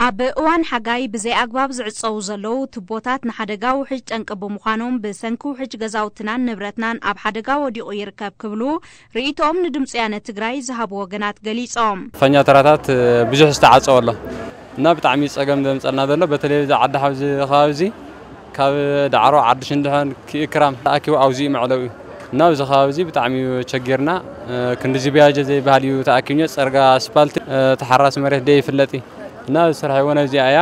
ኣብ እዋን ሓጋይ ብዘይ ኣግባብ ዝዕጸዉ ዘለዉ ቱቦታት ንሓደጋ ውሕጅ ጠንቂ ብምዃኖም፣ ብሰንኪ ውሕጅ ገዛውትናን ንብረትናን ኣብ ሓደጋ ወዲቑ ይርከብ ክብሉ ርእይቶኦም ንድምፂ ያነ ትግራይ ዝሃቡ ወገናት ገሊጾም። ፋኛ ተራታት ብዙሕ ዝተዓጸወ ኣሎ እና ብጣዕሚ ጸገም ዘምጸልና ዘሎ በተለይ እዚ ዓዲ ሓውዚ ከባቢ እዚ ካብ ዳዕሮ ዓዲ ሽንድሖን ክእክራም ተኣኪቡ ኣብዚ እዩ መዕለዊ እና ኣብዚ ከባቢ እዚ ብጣዕሚ እዩ ቸጊርና። ክንድዚ ቢያጀ ዘይበሃል እዩ ተኣኪብኛ ጸርጋ ኣስፓልቲ ተሓራሲ መሬት ደይ ይፍለጥ እዩ እና ዝሰርሐ እውን ኣብዚኣ እያ።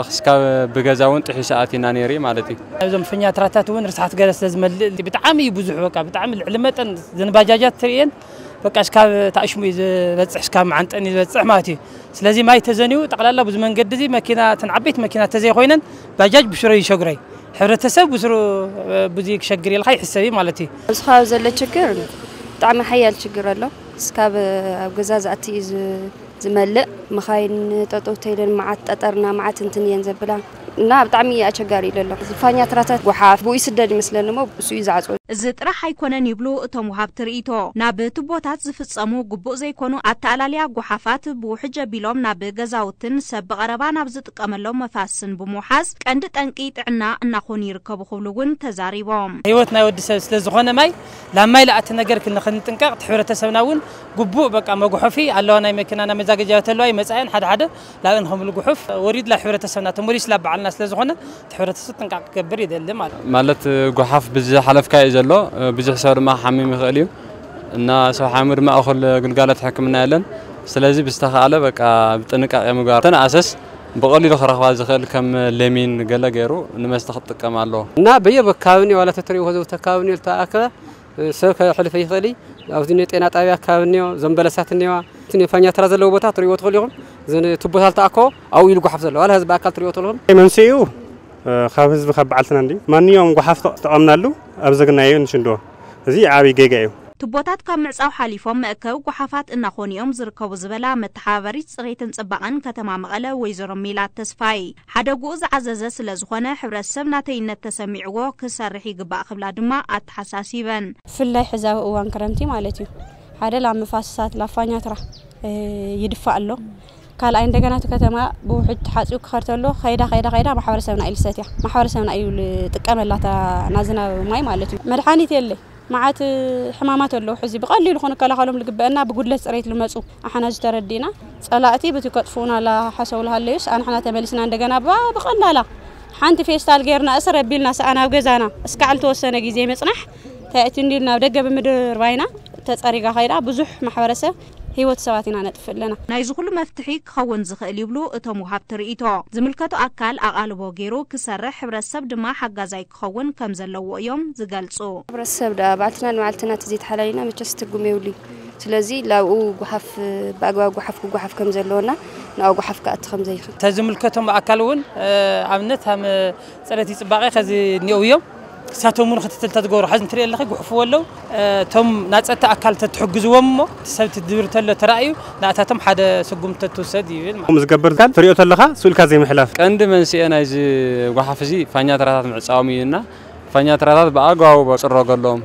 ክስካብ ብገዛ እውን ጥሒሱ ኣቲና ነይሩ ማለት እዩ። እዞም ፈኛ ትራታት እውን ርስሓት ገለ ስለ ዝመልእ ብጣዕሚ እዩ ብዙሕ በቃ ብጣዕሚ ልዕሊ መጠን ዘንባጃጃት ትርእየን በቃ እስካብ ታእሽሙ እዩ ዝበፅሕ እስካብ መዓንጠን እዩ ዝበፅሕ ማለት እዩ። ስለዚ ማይ ተዘንዩ ጠቕላላ ብዙ መንገዲ እዚ መኪና እተን ዓበይቲ መኪና ተዘይኮይነን ባጃጅ ብስሮ ይሸግረይ ሕብረተሰብ ብስሩ ብዙ ክሸግር ኢልካ ይሕሰብ እዩ ማለት እዩ። ኣብዚ ከባቢ ዘሎ ችግር ብጣዕሚ ሓያል ችግር ኣሎ። እስካብ ኣብ ገዛ ዝኣቲ እዩ ዝ- ዝመልእ መኻይን ጠጠው ተይለን መዓት ጠጠርና መዓት እንትን እየን ዘብላ እና ብጣዕሚ ኣቸጋሪ እዩ ዘሎ። ዝፋኛ ትራታት ጎሓፍ ብኡ ይስደድ ይመስለኒ እሞ እሱ እዩ ዝዓፅወ። እዚ ጥራሕ ኣይኮነን ይብሉ እቶም ወሃብቲ ርእይቶ። ናብ ቱቦታት ዝፍጸሙ ግቡእ ዘይኮኑ ኣተኣላልያ ጎሓፋት ብውሕጅ ኣቢሎም ናብ ገዛውትን ሰብ ብቐረባ ናብ ዝጥቀመሎም መፋስን ብምውሓዝ ቀንዲ ጠንቂ ጥዕና እናኾኑ ይርከቡ ክብሉ እውን ተዛሪቦም። ህይወት ናይ ወዲ ሰብ ስለ ዝኾነ ማይ ላብ ማይ ለኣቲ ነገር ክን- ክንጥንቀቕ እቲ ሕብረተሰብና እውን ግቡእ በቃ መጉሐፊ ኣለዋ ናይ መኪና ናይ መዛገጃ ተለዋ ይመፃየን ሓደ ሓደ ላብን ከምሉ ጉሑፍ ወሪድ ላ ሕብረተሰብና ተመሊስ ላ በዓልና ስለ ዝኾነ እቲ ሕብረተሰብ ጥንቃቅ ክገብር ይደሊ ማለት ማለት ጎሓፍ ብዝሓለፍካ እዩ ዘሎ ብዙሕ ሰብ ድማ ሓሚም ይኽእል እዩ እና ሰብ ሓሚሙ ድማ እኹል ግልጋሎት ሕክምና የለን። ስለዚ ብዝተኻለ በቃ ብጥንቃቄ ምግባር ተን ኣሰስ ብቐሊሉ ክረኽባ ዝኽእል ከም ለሚን ገለ ገይሩ ንመስተ ክትጥቀም ኣለዎ። እና በየበ ከባቢ እኒኦ ዋላ ተተሪእዎ ዘውተ ከባቢ እኒኦ ዝተኣከበ ሰብ ከሕልፈ ይኽእል እዩ። ኣብዚ እኒኦ ጤና ጣብያ ከባቢ እኒኦ ዘንበለሳት እኒዋ እቲ ፋኛትራ ዘለዎ ቦታ ትሪእዎ ትኽእሉ ኢኹም። እዘን ቱቦታት ተኣከቦ ኣብኡ ኢሉ ጓሓፍ ዘሎ ዋላ ህዝቢ ኣካል ትሪእዎ ትኽእሉ ኢኹም። መንስኡ ካብ ህዝቢ ካብ በዓልትና እንዲ ማንኛውም ጓሓፍ ተጠቐምናሉ ኣብ ዘግናዮ ንሽንዶ እዚ ዓብዪ ጌጋ እዩ። ቱቦታት ካብ ምዕጻው ሓሊፎም መእከቢ ጓሓፋት እናኾኑ እዮም ዝርከቡ ዝበላ መተሓባበሪት ጽሬትን ጽባቐን ከተማ መቐለ ወይዘሮ ሜላት ተስፋይ፣ ሓደግኡ ዝዓዘዘ ስለ ዝኾነ ሕብረተሰብ ናተይነት ተሰሚዕዎ ክሰርሕ ይግባእ ክብላ ድማ ኣተሓሳሲበን። ብፍላይ ሕዚ ኣብ እዋን ክረምቲ ማለት እዩ ሓደ ላብ መፋስሳት ላብ ፋኛትራ ይድፋእ ኣሎ። ካልኣይ እንደገና እቲ ከተማ ብውሕጅ ተሓፂኡ ክኸድ ተሎ ከይዳ ከይዳ ከይዳ ማሕበረሰብና እዩ ልሰትያ ማሕበረሰብና እዩ ልጥቀመላ እታ ናዝናብ ማይ ማለት እዩ። መድሓኒት የለ። መዓት ሕማማት ኣለዉ ሕዚ ብቐሊሉ ክንከላኸሎም ልግበአና ብጉድለት ፅሬት ልመፁ ኣሓና ዝተረዲእና ፀላእቲ ብቲ ከጥፍኡና ላሓሰቡ ልሃለዩስ ኣንሕና ተመሊስና እንደገና ባ ብቐላላ ሓንቲ ፌስታል ጌርና እስር ኣቢልና ሰኣን ኣብ ገዛና እስካዕ ልተወሰነ ግዜ ምፅናሕ ተእቲ እንዲልና ኣብ ደገ ብምድርባይና ተፀሪጋ ከይዳ ብዙሕ ማሕበረሰብ ህይወት ሰባት ኢና ነጥፍእ ኣለና። ናይዚ ኩሉ መፍትሒ ክኸውን ዝኽእል ይብሉ እቶም ወሃብቲ ርእይቶ። ዝምልከቶ ኣካል ኣቓልቦ ገይሩ ክሰርሕ፣ ሕብረተሰብ ድማ ሓጋዛይ ክኸውን ከም ዘለዎ እዮም ዝገልጹ። ሕብረተሰብ ደኣ ባዕልትና ንባዕልትና ተዘይተሓላሊና መቸስ ትርጉም የብሉን። ስለዚ ላብኡ ጓሓፍ ብኣግባብ ጓሓፍ ክጓሓፍ ከም ዘለዎና ንኣኡ ጓሓፍ ክኣቲ ከም ዘይኽእል። ተዝምልከቶም ኣካል እውን ኣብነት ሃም ፅሬት ይፅባቐ ከዚ እኒአው እዮም። እሳቶም እውን ክትትል ተትገብሩ ሓዚ እንትሪኦ ኣለኺ ጉሕፍዎ ኣለዉ። እቶም ናፀቲ ኣካል ተትሕግዝዎም እሞ እቲ ሰብ ትድብር ተሎ ተራእዩ ንኣታቶም ሓደ ስጉም ተትውሰድ ይብል ማለት። ከምኡ ዝገብር ካል ትሪኦ ተለኻ ስኡልካ ዘይምሕላፍ። ቀንዲ መንስኤ ናይዚ ጓሓፍ እዚ ፋኛ ተራታት ምዕፃዎም እዩ እና ፋኛ ተራታት ብኣግባቡ በፅረገሎም።